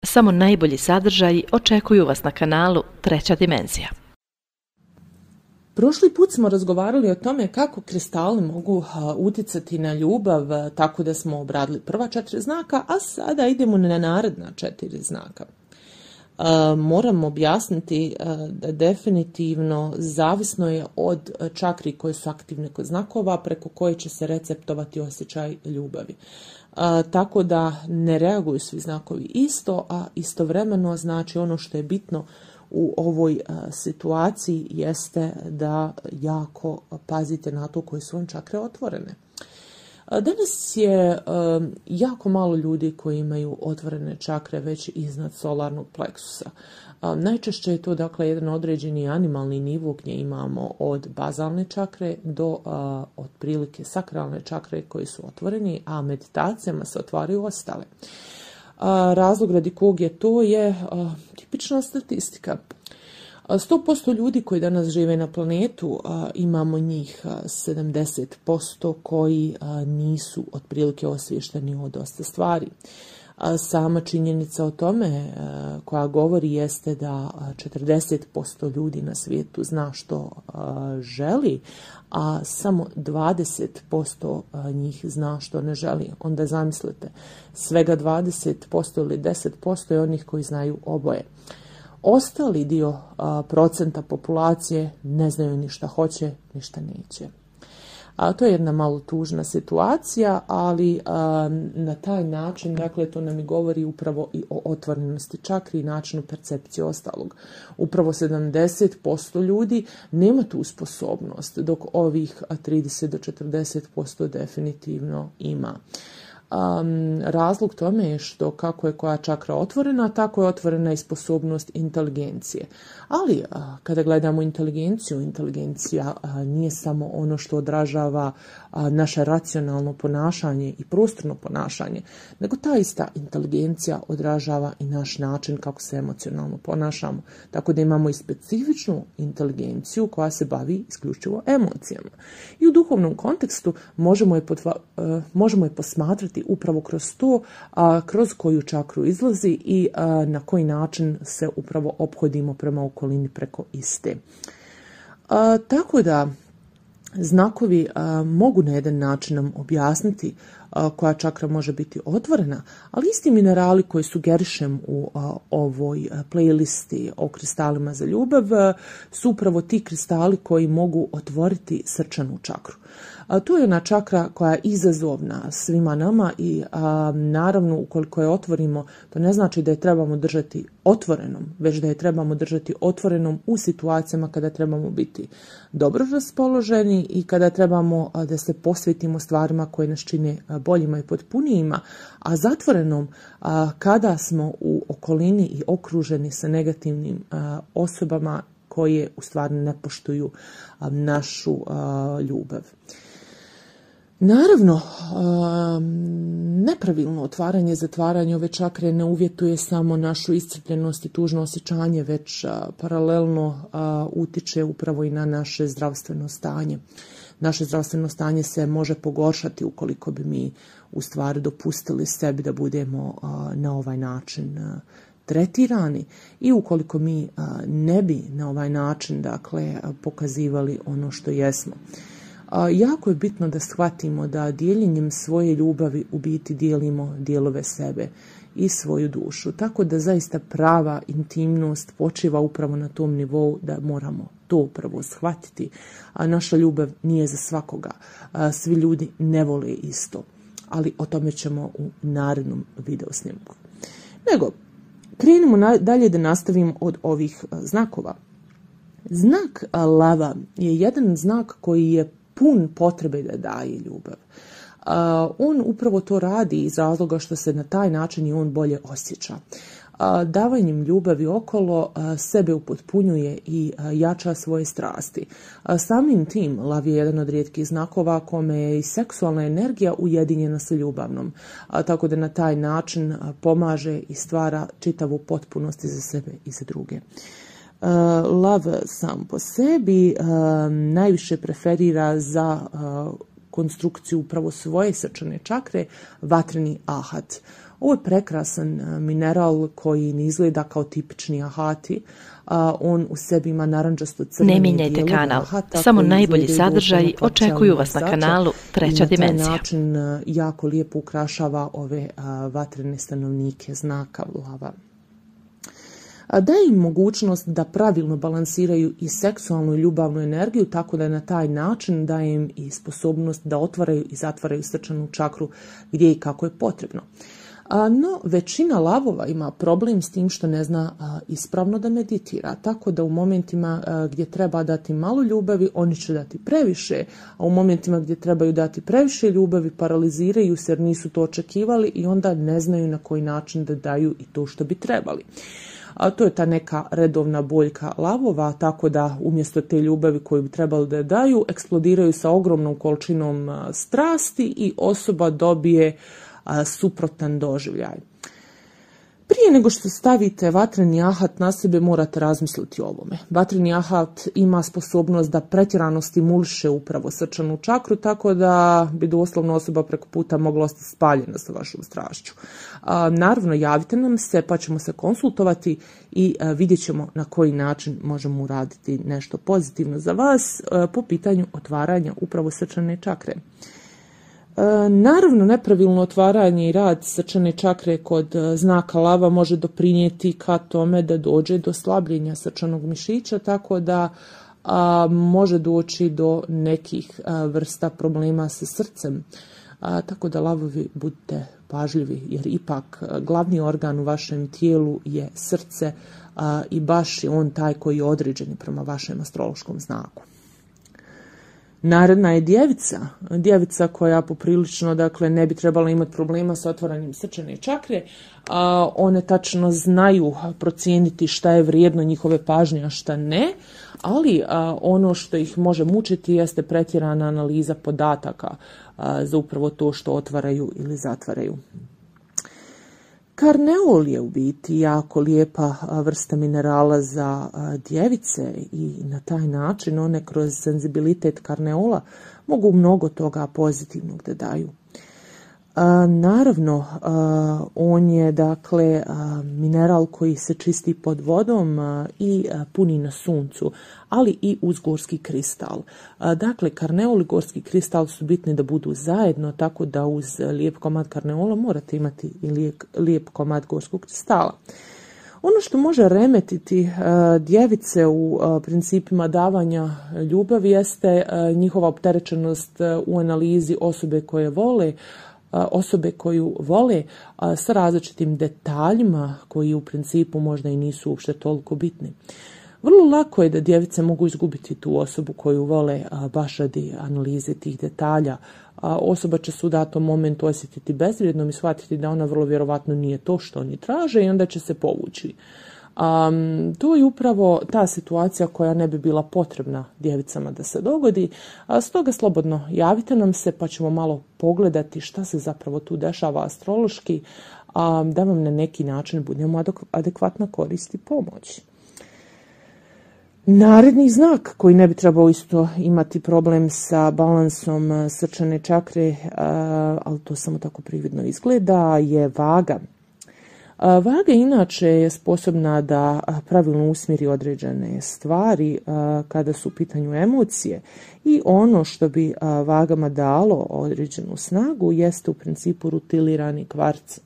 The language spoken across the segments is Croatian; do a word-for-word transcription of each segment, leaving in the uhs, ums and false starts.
Samo najbolji sadržaji očekuju vas na kanalu Treća dimenzija. Prošli put smo razgovarali o tome kako kristali mogu uticati na ljubav, tako da smo obradili prva četiri znaka, a sada idemo na naredna četiri znaka. Moram objasniti da definitivno zavisno je od čakri koje su aktivne kod znakova preko koje će se receptovati osjećaj ljubavi. Tako da ne reaguju svi znakovi isto, a istovremeno znači ono što je bitno u ovoj situaciji jeste da jako pazite na to koje su vam čakre otvorene. Danas je jako malo ljudi koji imaju otvorene čakre već iznad solarnog pleksusa. Najčešće je to dakle jedan određeni animalni nivo gdje imamo od bazalne čakre do otprilike sakralne čakre koji su otvoreni, a meditacijama se otvaraju ostale. Razlog radi kog je to je tipična statistika. sto posto ljudi koji danas žive na planetu, imamo njih sedamdeset posto koji nisu otprilike osviješteni o dosta stvari. Sama činjenica o tome koja govori jeste da četrdeset posto ljudi na svijetu zna što želi, a samo dvadeset posto njih zna što ne želi. Onda zamislite, svega dvadeset posto ili deset posto je onih koji znaju oboje. Ostali dio a, procenta populacije ne znaju ni šta hoće, ni šta neće. A to je jedna malo tužna situacija, ali a, na taj način, dakle, to nam i govori upravo i o otvorenosti čakri i načinu percepcije ostalog. Upravo sedamdeset posto ljudi nema tu sposobnost, dok ovih trideset do četrdeset posto definitivno ima. Um, razlog tome je što kako je koja čakra otvorena, tako je otvorena i sposobnost inteligencije. Ali a, kada gledamo inteligenciju, inteligencija a, nije samo ono što odražava a, naše racionalno ponašanje i prostorno ponašanje, nego ta ista inteligencija odražava i naš način kako se emocionalno ponašamo. Tako da imamo i specifičnu inteligenciju koja se bavi isključivo emocijama. I u duhovnom kontekstu možemo je, potva, uh, možemo je posmatrati upravo kroz to, a, kroz koju čakru izlazi i a, na koji način se upravo ophodimo prema okolini preko iste. A, tako da znakovi a, mogu na jedan način nam objasniti a, koja čakra može biti otvorena, ali isti minerali koji sugerišem u a, ovoj a, playlisti o kristalima za ljubav a, su upravo ti kristali koji mogu otvoriti srčanu čakru. A to je ona čakra koja je izazovna svima nama i a, naravno ukoliko je otvorimo, to ne znači da je trebamo držati otvorenom, već da je trebamo držati otvorenom u situacijama kada trebamo biti dobro raspoloženi i kada trebamo a, da se posvetimo stvarima koje nas čine boljima i potpunijima, a zatvorenom a, kada smo u okolini i okruženi sa negativnim a, osobama koje u stvari ne poštuju a, našu a, ljubav. Naravno, nepravilno otvaranje i zatvaranje ove čakre ne uvjetuje samo našu iscrpljenost i tužno osjećanje, već paralelno utiče upravo i na naše zdravstveno stanje. Naše zdravstveno stanje se može pogoršati ukoliko bi mi u stvari dopustili sebi da budemo na ovaj način tretirani i ukoliko mi ne bi na ovaj način, dakle, pokazivali ono što jesmo. Jako je bitno da shvatimo da dijeljenjem svoje ljubavi u biti dijelimo dijelove sebe i svoju dušu. Tako da zaista prava intimnost počiva upravo na tom nivou da moramo to upravo shvatiti. A naša ljubav nije za svakoga. Svi ljudi ne vole isto. Ali o tome ćemo u narednom video snimku. Nego, krenimo dalje da nastavimo od ovih znakova. Znak lava je jedan znak koji je pun potrebe da daje ljubav. Uh, on upravo to radi iz razloga što se na taj način i on bolje osjeća. Uh, davanjem ljubavi okolo uh, sebe upotpunjuje i uh, jača svoje strasti. Uh, samim tim lav je jedan od rijetkih znakova kome je i seksualna energija ujedinjena sa ljubavnom. Uh, tako da na taj način uh, pomaže i stvara čitavu potpunost i za sebe i za druge. Uh, lav sam po sebi uh, najviše preferira za uh, konstrukciju upravo svoje srčane čakre vatreni ahat. Ovo je prekrasan mineral koji ne izgleda kao tipični ahati. On u sebi ima narandžasto crvene Ne mijenjajte kanal, samo najbolji sadržaj očekuju vas na kanalu Treća dimenzija. Na taj način jako lijepo ukrašava ove vatrene stanovnike znaka lava. Daje im mogućnost da pravilno balansiraju i seksualnu i ljubavnu energiju, tako da na taj način daje im i sposobnost da otvaraju i zatvaraju srčanu čakru gdje i kako je potrebno. No, većina lavova ima problem s tim što ne zna ispravno da meditira, tako da u momentima gdje treba dati malo ljubavi, oni će dati previše, a u momentima gdje trebaju dati previše ljubavi, paraliziraju se jer nisu to očekivali i onda ne znaju na koji način da daju i to što bi trebali. A to je ta neka redovna boljka lavova, tako da umjesto te ljubavi koju bi trebali da daju, eksplodiraju sa ogromnom količinom strasti i osoba dobije a, suprotan doživljaj. Prije nego što stavite vatreni ahat na sebe, morate razmisliti o ovome. Vatreni ahat ima sposobnost da pretjerano stimuliše upravo srčanu čakru, tako da bi doslovno osoba preko puta mogla ostati spaljena sa vašom strašću. A, naravno, javite nam se pa ćemo se konsultovati i a, vidjet ćemo na koji način možemo uraditi nešto pozitivno za vas a, po pitanju otvaranja upravo srčane čakre. Naravno, nepravilno otvaranje i rad srčane čakre kod znaka lava može doprinijeti ka tome da dođe do slabljenja srčanog mišića, tako da a, može doći do nekih a, vrsta problema sa srcem. A, tako da lavovi budite pažljivi, jer ipak a, glavni organ u vašem tijelu je srce a, i baš je on taj koji je određen prema vašem astrološkom znaku. Naredna je djevica, djevica koja poprilično, dakle, ne bi trebala imati problema sa otvaranjem srčane čakre, a one tačno znaju procijeniti šta je vrijedno njihove pažnje, a šta ne, ali a, ono što ih može mučiti jeste pretjerana analiza podataka a, za upravo to što otvaraju ili zatvaraju. Karneol je u biti jako lijepa vrsta minerala za djevice i na taj način one kroz senzibilitet karneola mogu mnogo toga pozitivnog da daju. Naravno, on je dakle mineral koji se čisti pod vodom i puni na suncu, ali i uz gorski kristal. Dakle, karneol i gorski kristal su bitni da budu zajedno, tako da uz lijep komad karneola morate imati i lijep, lijep komad gorskog kristala. Ono što može remetiti djevice u principima davanja ljubavi jeste njihova opterećenost u analizi osobe koje vole, osobe koju vole a, sa različitim detaljima koji u principu možda i nisu uopšte toliko bitni. Vrlo lako je da djevice mogu izgubiti tu osobu koju vole a, baš radi analize tih detalja. A, osoba će se u datom momentu osjetiti bezvrijednom i shvatiti da ona vrlo vjerovatno nije to što oni traže i onda će se povući. Um, to je upravo ta situacija koja ne bi bila potrebna djevicama da se dogodi, a stoga slobodno javite nam se pa ćemo malo pogledati šta se zapravo tu dešava astrološki, a, da vam na neki način budemo adekvatna korist i pomoć. Naredni znak koji ne bi trebao isto imati problem sa balansom srčane čakre, a, ali to samo tako prividno izgleda, je vaga. Vaga inače je sposobna da pravilno usmjeri određene stvari kada su u pitanju emocije i ono što bi vagama dalo određenu snagu jeste u principu rutilirani kvarc.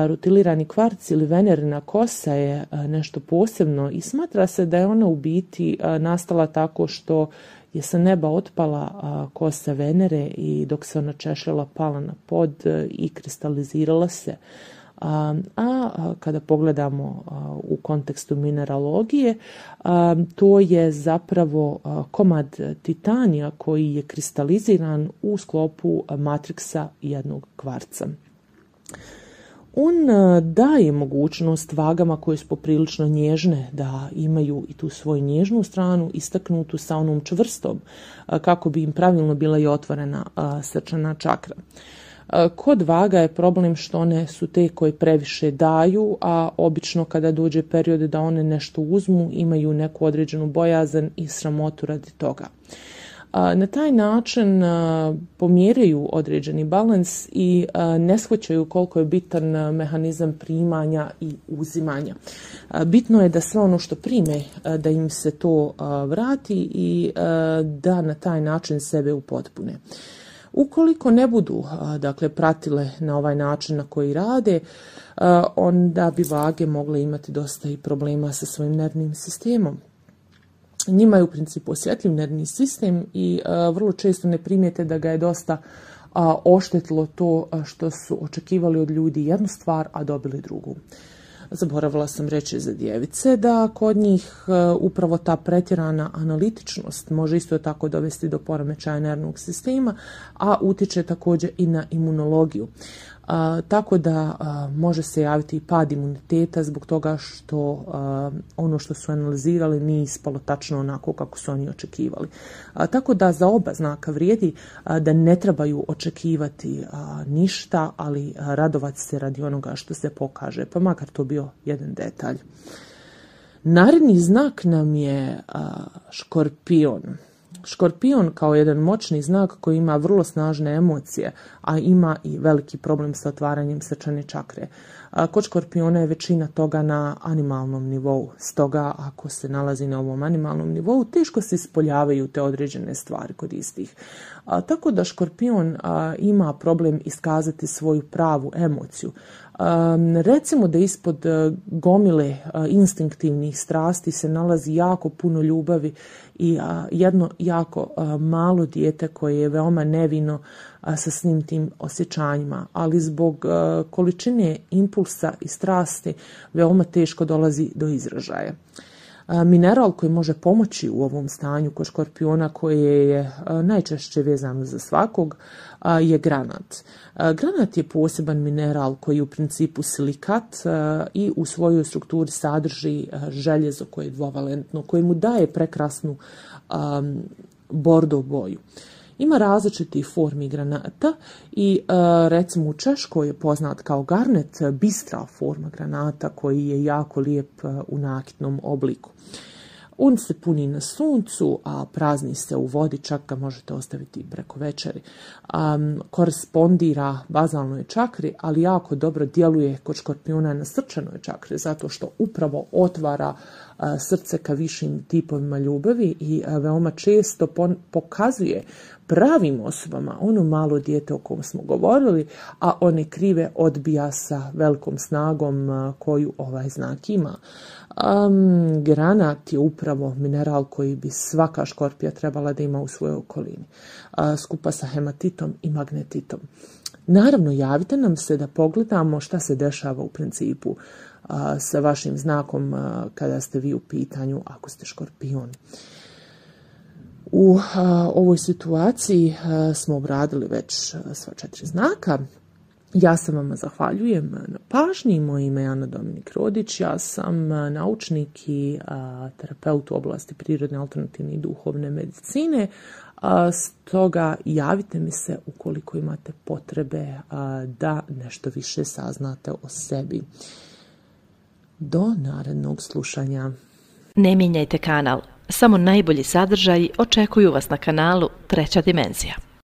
Rutilirani kvarc ili venerina kosa je nešto posebno i smatra se da je ona u biti nastala tako što je sa neba otpala kosa Venere i dok se ona češljala pala na pod i kristalizirala se. A, a kada pogledamo a, u kontekstu mineralogije, a, to je zapravo a, komad titanija koji je kristaliziran u sklopu matriksa jednog kvarca. On a, daje mogućnost vagama koje su poprilično nježne da imaju i tu svoju nježnu stranu istaknutu sa onom čvrstom a, kako bi im pravilno bila i otvorena a, srčana čakra. Kod vaga je problem što one su te koje previše daju, a obično kada dođe period da one nešto uzmu, imaju neku određenu bojazan i sramotu radi toga. Na taj način pomjeraju određeni balans i ne shvaćaju koliko je bitan mehanizam primanja i uzimanja. Bitno je da sve ono što prime, da im se to vrati i da na taj način sebe upotpune. Ukoliko ne budu, dakle, pratile na ovaj način na koji rade, onda bi vage mogle imati dosta i problema sa svojim nervnim sistemom. Njima je u principu osjetljiv nervni sistem i vrlo često ne primijete da ga je dosta oštetilo to što su očekivali od ljudi jednu stvar, a dobili drugu. Zaboravila sam reći za djevice da kod njih upravo ta pretjerana analitičnost može isto tako dovesti do poremećaja nervnog sistema, a utječe također i na imunologiju. A, tako da a, može se javiti i pad imuniteta zbog toga što a, ono što su analizirali nije ispalo tačno onako kako su oni očekivali. A, tako da za oba znaka vrijedi a, da ne trebaju očekivati a, ništa, ali a, radovati se radi onoga što se pokaže, pa makar to bio jedan detalj. Naredni znak nam je a, škorpion. Škorpion kao jedan moćni znak koji ima vrlo snažne emocije, a ima i veliki problem sa otvaranjem srčane čakre. Kod škorpiona je većina toga na animalnom nivou, stoga ako se nalazi na ovom animalnom nivou, teško se ispoljavaju te određene stvari kod istih. A, tako da škorpion a, ima problem iskazati svoju pravu emociju. A, recimo da ispod a, gomile a, instinktivnih strasti se nalazi jako puno ljubavi i a, jedno jako a, malo dijete koje je veoma nevino a, sa svim tim osjećanjima, ali zbog a, količine impulsa i strasti veoma teško dolazi do izražaja. Mineral koji može pomoći u ovom stanju kod škorpiona, koje je najčešće vezano za svakog, je granat. Granat je poseban mineral koji je u principu silikat i u svojoj strukturi sadrži željezo koje je dvovalentno, koje mu daje prekrasnu bordo boju. Ima različitih formi granata i recimo u Češkoj je poznat kao garnet, bistra forma granata koji je jako lijep u nakitnom obliku. On se puni na suncu, a prazni se u vodi, čak ga možete ostaviti preko večeri. Um, korespondira bazalnoj čakri, ali jako dobro djeluje kod škorpiona na srčanoj čakri, zato što upravo otvara uh, srce ka višim tipovima ljubavi i uh, veoma često pon- pokazuje pravim osobama ono malo dijete o kom smo govorili, a one krive odbija sa velikom snagom uh, koju ovaj znak ima. Um, granat je upravo mineral koji bi svaka škorpija trebala da ima u svojoj okolini, uh, skupa sa hematitom i magnetitom. Naravno, javite nam se da pogledamo šta se dešava u principu uh, sa vašim znakom uh, kada ste vi u pitanju ako ste škorpion. U uh, ovoj situaciji uh, smo obradili već uh, sva četiri znaka. Ja se vama zahvaljujem na pažnji. Moje ime je Ana Dominik Rodić. Ja sam naučnik i a, terapeut u oblasti prirodne, alternativne i duhovne medicine. A, stoga javite mi se ukoliko imate potrebe a, da nešto više saznate o sebi. Do narednog slušanja. Ne mijenjajte kanal. Samo najbolji sadržaji očekuju vas na kanalu Treća dimenzija.